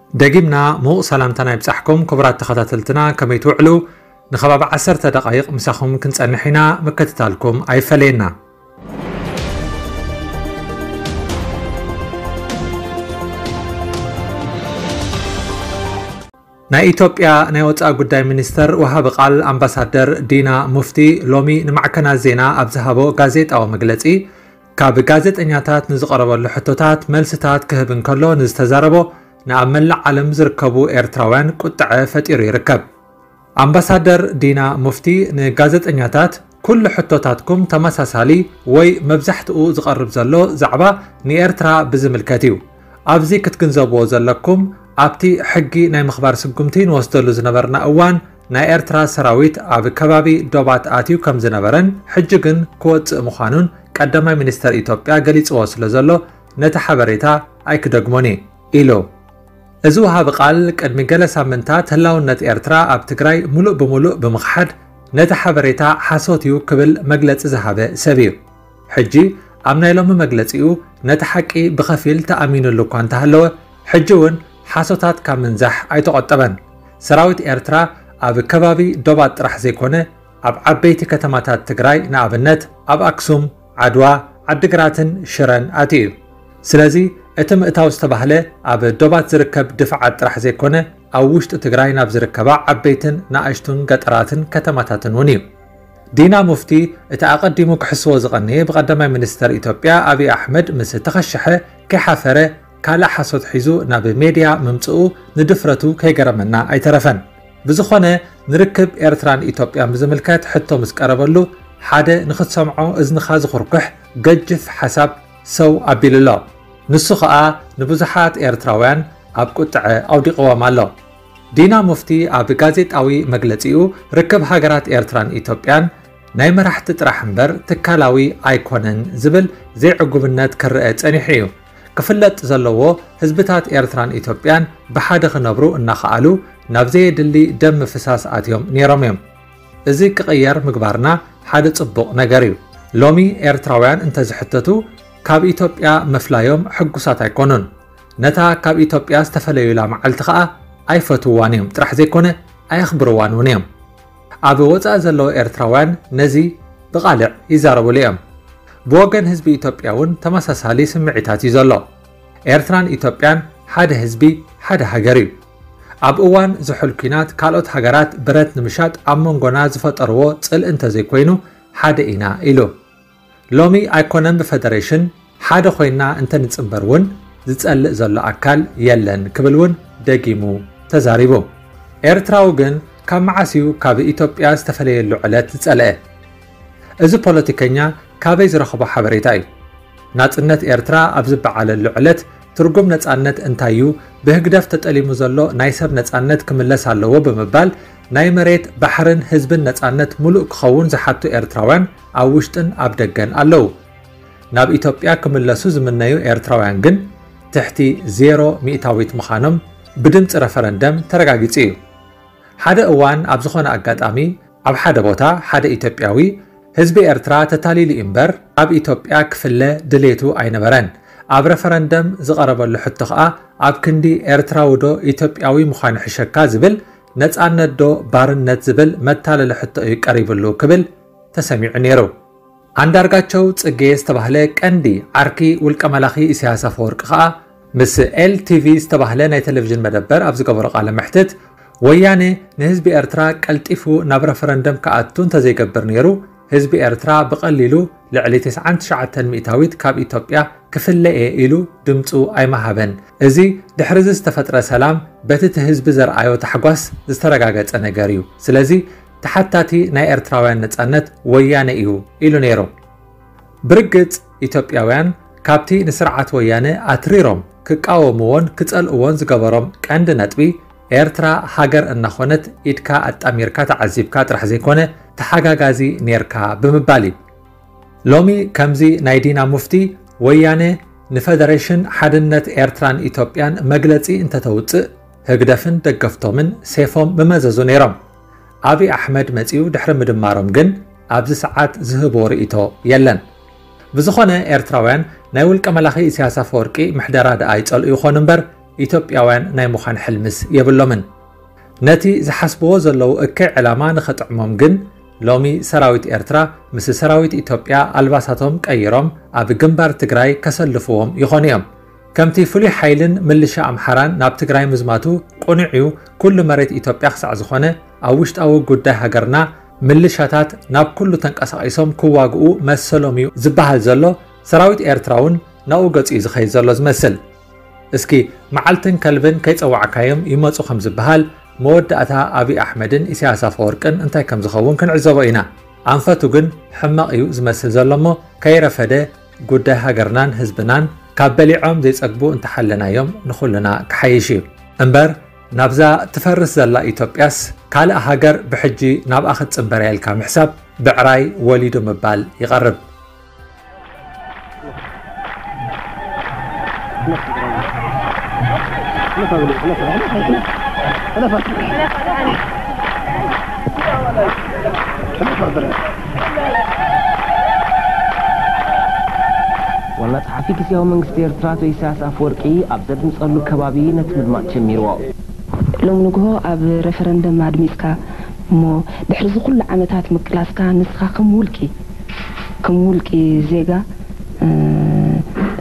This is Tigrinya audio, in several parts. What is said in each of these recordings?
ደጊምና ምዉቕ ሰላምታና ይብጻሕኩም ክቡራት ተኸታተልትና፣ ከመይ ትውዕሉ? ንኸባቢ ዓሰርተ ደቓይቕ ምሳኹም ክንጸንሕ ኢና፣ ምክትታልኩም ኣይፈለየና። ናይ ኢትዮጵያ ናይ ወጻኢ ጉዳይ ሚኒስተር ወሃቢ ቃል ኣምባሳደር ዲና ሙፍቲ ሎሚ ንማዕከናት ዜና ኣብ ዝሃቦ ጋዜጣዊ መግለጺ፣ ካብ ጋዜጠኛታት ንዝቐረበሉ ሕቶታት መልስታት ክህብ እንከሎ፣ ንዝተዛረቦ ንኣብ መላእ ዓለም ዝርከቡ ኤርትራውያን ቁጥዐ ፈጢሩ ይርከብ። ኣምባሳደር ዲና ሙፍቲ ንጋዜጠኛታት፣ ኩሉ ሕቶታትኩም ተመሳሳሊ ወይ መብዛሕትኡ ዝቐርብ ዘሎ ዛዕባ ንኤርትራ ብዝምልከት እዩ። ኣብዚ ክትግንዘብዎ ዘለኩም፣ ኣብቲ ሕጊ ናይ ምኽባር ስጉምቲ ንወስደሉ ዝነበርና እዋን፣ ናይ ኤርትራ ሰራዊት ኣብ ከባቢ ዶባት ኣትዩ ከም ዝነበረን ሕጂ ግን ክወጽእ ምዃኑን ቀዳማይ ሚኒስተር ኢትዮጵያ ገሊጽዎ ስለ ዘሎ፣ ነቲ ሓበሬታ ኣይክደግሞን እየ ኢሉ። እዚ ወሃቢ ቃል ቅድሚ ገለ ሳምንታት ህላውነት ኤርትራ ኣብ ትግራይ ሙሉእ ብሙሉእ ብምኽሓድ፣ ነቲ ሓበሬታ ሓሶት እዩ ክብል መግለጺ ዝሃበ ሰብ እዩ። ሕጂ ኣብ ናይ ሎሚ መግለጺኡ ነቲ ሓቂ ብኸፊል ተኣሚኑሉ እኳ እንተሃለወ፣ ሕጂ እውን ሓሶታት ካብ ምንዛሕ ኣይተቖጠበን። ሰራዊት ኤርትራ ኣብ ከባቢ ዶባት ጥራሕ ዘይኮነ፣ ኣብ ዓበይቲ ከተማታት ትግራይ፣ ንኣብነት ኣብ ኣክሱም፣ ዓድዋ፣ ዓዲግራትን ሽረን ኣትዩ እዩ። ስለዚ እቲ ምእታው ዝተባህለ ኣብ ዶባት ዝርከብ ድፍዓት ጥራሕ ዘይኮነ፣ ኣብ ውሽጢ ትግራይ ናብ ዝርከባ ዓበይትን ንኣሽቱን ገጠራትን ከተማታትን እውን እዩ። ዲና ሙፍቲ እቲ ኣቐዲሙ ክሕስዎ ዝቐነየ ብቐዳማይ ሚኒስተር ኢትዮጵያ ኣብይ ኣሕመድ ምስ ተኸሸሐ ከይሓፈረ ካልእ ሓሶት ሒዙ ናብ ሜድያ ምምጽኡ ንድፍረቱ ከይገረመና ኣይተረፈን። ብዝኾነ ንርክብ ኤርትራን ኢትዮጵያን ብዝምልከት ሕቶ ምስ ቀረበሉ ሓደ ንኽትሰምዖ እዝንኻ ዝኹርኩሕ ገጅፍ ሓሳብ ሰው ኣቢሉ ኣሎ። ንሱ ኸኣ ንብዙሓት ኤርትራውያን ኣብ ቁጥዐ ኣውዲቕዎም ኣሎ። ዲና ሙፍቲ ኣብ ጋዜጣዊ መግለጺኡ ርክብ ሃገራት ኤርትራን ኢትዮጵያን ናይ መራሕቲ ጥራሕ እምበር ትካላዊ ኣይኮነን ዝብል ዘይዕጉብነት ክረአ ጸኒሑ እዩ። ክፍለጥ ዘለዎ ህዝብታት ኤርትራን ኢትዮጵያን ብሓደ ክነብሩ እናኸኣሉ ናብ ዘየድሊ ደም ምፍሳስ ኣትዮም ነይሮም እዮም። እዚ ክቕየር ምግባርና ሓደ ጽቡቕ ነገር እዩ። ሎሚ ኤርትራውያን እንተዝሕተቱ ካብ ኢትዮጵያ ምፍላዮም ሕጉሳት ኣይኮኑን። ነታ ካብ ኢትዮጵያ ዝተፈለዩላ መዓልቲ ኸኣ ኣይፈትውዋን እዮም ጥራሕ ዘይኮነ ኣየኽብርዋን እውን እዮም። ኣብ ወጻኢ ዘለዉ ኤርትራውያን ነዚ ብቓልዕ ይዛረቡሉ እዮም። ብወገን ህዝቢ ኢትዮጵያ እውን ተመሳሳሊ ስምዒታት እዩ ዘሎ። ኤርትራን ኢትዮጵያን ሓደ ህዝቢ፣ ሓደ ሃገር እዩ። ኣብ እዋን ዝሑል ኲናት ካልኦት ሃገራት ብረት ንምሻጥ ኣብ መንጎና ዝፈጠርዎ ጽልኢ እንተዘይኮይኑ ሓደ ኢና ኢሉ። ሎሚ ኣይኮነን ብፈደሬሽን ሓደ ኮይና እንተንጽንበር እውን ዝጸልእ ዘሎ ኣካል የለን ክብል እውን ደጊሙ ተዛሪቡ። ኤርትራዊ ግን ካብ መዓስ እዩ ካብ ኢትዮጵያ ዝተፈለየሉ ዕለት ዝጸልአ? እዚ ፖለቲከኛ ካበይ ዝረኸቦ ሓበሬታ እዩ? ናጽነት ኤርትራ ኣብ ዝበዓለሉ ዕለት ትርጉም ነጻነት እንታይ እዩ? ብህግደፍ ተጠሊሙ ዘሎ ናይ ሰብ ነጻነት ክምለስ ኣለዎ ብምባል ናይ መሬት፣ ባሕርን ህዝብን ነጻነት ሙሉእ ክኸውን ዝሓቱ ኤርትራውያን ኣብ ውሽጥን ኣብ ደገን ኣለዉ። ናብ ኢትዮጵያ ክምለሱ ዝምነዩ ኤርትራውያን ግን ትሕቲ ዜሮ ሚእታዊት ምዃኖም ብድምፂ ረፈረንደም ተረጋጊጹ እዩ። ሓደ እዋን ኣብ ዝኾነ ኣጋጣሚ ኣብ ሓደ ቦታ ሓደ ኢትዮጵያዊ፣ ህዝቢ ኤርትራ ተታሊሉ እዩ እምበር ኣብ ኢትዮጵያ ክፍለ ድሌቱ ኣይነበረን። ኣብ ረፈረንደም ዝቐረበሉ ሕቶ ኸኣ ኣብ ክንዲ ኤርትራዊ ዶ ኢትዮጵያዊ ምዃን ይሕሸካ ዝብል፣ ነጻነት ዶ ባርነት ዝብል መታለሊ ሕቶ እዩ ቀሪብሉ ክብል ተሰሚዑ ነይሩ። ኣንዳርጋቸው ጽጌ ዝተባህለ ቀንዲ ዓርኪ ውልቀ መላኺ ኢሳያስ ኣፈወርቂ ኸኣ ምስ ኤል ቲ ቪ ዝተባህለ ናይ ቴሌቪዥን መደበር ኣብ ዝገበሮ ቃለ መሕትት፣ ወያነ ንህዝቢ ኤርትራ ቀልጢፉ ናብ ረፈረንደም ክኣቱ እንተዘይገብር ነይሩ፣ ህዝቢ ኤርትራ ብቐሊሉ ልዕሊ ተስዓን ትሽዓተን ሚእታዊት ካብ ኢትዮጵያ ክፍለ እየ ኢሉ ድምፁ ኣይምሃበን። እዚ ድሕሪ እዚ ዝተፈጥረ ሰላም በቲ እቲ ህዝቢ ዘርኣዮ ታሕጓስ ዝተረጋገጸ ነገር እዩ። ስለዚ ተሓታቲ ናይ ኤርትራውያን ነጻነት ወያነ እዩ ኢሉ ነይሩ። ብርግጽ ኢትዮጵያውያን ካብቲ ንስርዓት ወያነ ኣትሪሮም ክቃወምዎን ክጸልእዎን ዝገበሮም ቀንዲ ነጥቢ ኤርትራ ሃገር እናኾነት ኢድካ ኣጣሚርካ ተዓዚብካ ጥራሕ ዘይኮነ ተሓጋጋዚ ኔርካ ብምባል እዩ። ሎሚ ከምዚ ናይ ዲና ሙፍቲ ወያነ ንፈደሬሽን ሓድነት ኤርትራን ኢትዮጵያን መግለጺ እንተተውጽእ ህግደፍን ደገፍቶምን ሴፎም ምመዘዙ ነይሮም። ኣብይ ኣሕመድ መጺኡ ድሕሪ ምድማሮም ግን ኣብዚ ሰዓት ዝህቦ ርእይቶ የለን። ብዝኾነ ኤርትራውያን ናይ ውልቀ መላኺ ኢሳያስ ኣፈወርቂ ምሕደራ ደኣ ይጸልኡ ይኾኑ እምበር ኢትዮጵያውያን ናይ ምዃን ሕልምስ የብሎምን። ነቲ ዝሓስብዎ ዘለዉ እከይ ዕላማ ንኸጥዕሞም ግን፣ ሎሚ ሰራዊት ኤርትራ ምስ ሰራዊት ኢትዮጵያ ኣልባሳቶም ቀይሮም ኣብ ግንባር ትግራይ ከሰልፍዎም ይኾኑ እዮም። ከምቲ ፍሉይ ሓይልን ምልሻ ኣምሓራን ናብ ትግራይ ምዝማቱ ቅኑዕ እዩ። ኩሉ መሬት ኢትዮጵያ ክሳዕ ዝኾነ፣ ኣብ ውሽጣዊ ጉዳይ ሃገርና ምልሻታት ናብ ኩሉ ተንቀሳቒሶም ክዋግኡ መሰሎም እዩ ዝበሃል ዘሎ፣ ሰራዊት ኤርትራ እውን ናብኡ ገጹ እዩ ዝኸይድ ዘሎ ዝመስል። እስኪ መዓልትን ከልብን ከይጸዋዕካዮም ይመጹ ከም ዝበሃል፣ መወዳእታ ኣብይ ኣሕመድን ኢሳያስ ኣፈወርቅን እንታይ ከም ዝኸውን ክንዕዘቦ ኢና። ኣንፈቱ ግን ሕማቕ እዩ ዝመስል ዘሎ እሞ፣ ከይረፈደ ጉዳይ ሃገርናን ህዝብናን ካብ በሊዖም ዘይጸግቡ እንተሓለናዮም ንኹልና ክሓይሽ እዩ። እምበር ናብዛ ትፈርስ ዘላ ኢትዮጵያስ ካልእ ሃገር ብሕጂ ናብኣ ክትጽንበር እያ ኢልካ ምሕሳብ ብዕራይ ወሊዱ ምባል ይቐርብ። ዋና ጸሓፊ ግዝያዊ መንግስቲ ኤርትራ ኣቶ ኢሳያስ ኣፈወርቂ ኣብ ዘድምጸሉ ከባቢ ነቲ ምድማጽ ጀሚርዎ። ሎም ንግሆ ኣብ ረፈረንደም ኣድሚጽካ እሞ ድሕሪ እዚ ኩሉ ዓመታት ምቅላስካ ንስኻ ከም ውልቂ ከም ውልቂ ዜጋ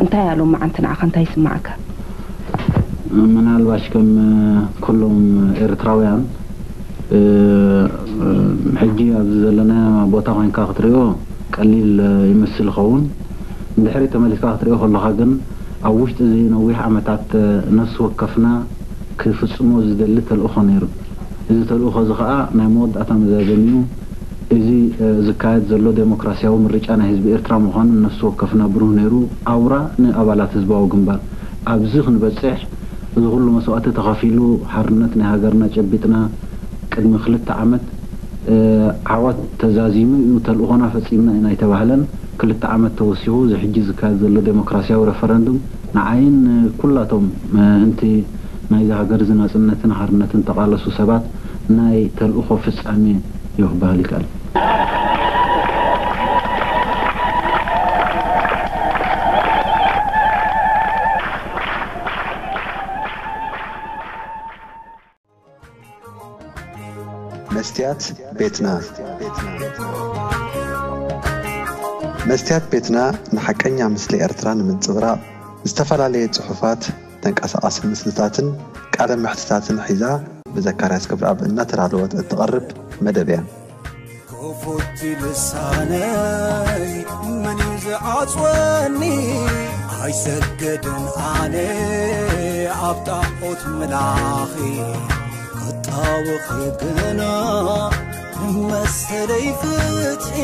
እንታይ ኣሎ መዓንቲ ንዓኻ እንታይ ይስማዓካ? ምናልባሽ ከም ኩሎም ኤርትራውያን ሕጂ ኣብዚ ዘለና ቦታ ኮይንካ ክትሪኦ ቀሊል ይመስል ይኸውን። እንድሕሪ ተመሊስካ ክትሪኦ ከለኻ ግን ኣብ ውሽጢ እዚ ነዊሕ ዓመታት ነፍሲ ወከፍና ክፍጽሞ ዝደሊ ተልእኾ ነይሩ። እዚ ተልእኾ እዚ ኸኣ ናይ መወዳእታ መዛዘሚኡ እዚ ዝካየድ ዘሎ ዴሞክራስያዊ ምርጫ ናይ ህዝቢ ኤርትራ ምዃኑ ንነፍሲ ወከፍና ብሩህ ነይሩ። ኣውራ ንኣባላት ህዝባዊ ግንባር ኣብዚ ክንበጽሕ እዚ ኩሉ መስዋእቲ ተኸፊሉ ሓርነት ናይ ሃገርና ጨቢጥና ቅድሚ ክልተ ዓመት ዓወት ተዛዚሙ እዩ ተልእኾና ፈጺምና ኢና ኣይተባህለን። ክልተ ዓመት ተወሲኹ እዚ ሕጂ ዝካየድ ዘሎ ዴሞክራስያዊ ረፈረንዱም ንዓይን ንኩላቶም ምእንቲ ናይዛ ሃገር እዚ ናጽነትን ሓርነትን ተቓለሱ ሰባት ናይ ተልእኾ ፍጻሜ እዩ ክበሃል ይከኣል። መስትያት ቤትና መስትያት ቤትና ንሓቀኛ ምስሊ ኤርትራ ንምንጽብራቕ ዝተፈላለየ ጽሑፋት፣ ተንቀሳቓሲ ምስልታትን ቃለ መሕትታትን ሒዛ ብዘካርያስ ክብረኣብ እናተዳለወት እትቐርብ መደብ እያ። ክፉት ልሳነይ መን እዩ ዝዓጽወኒ? ኣይሰግድን ኣነ ኣብ ጣዖት ምላኺ ክጣወኺ ግና መሰለይ ፍትሒ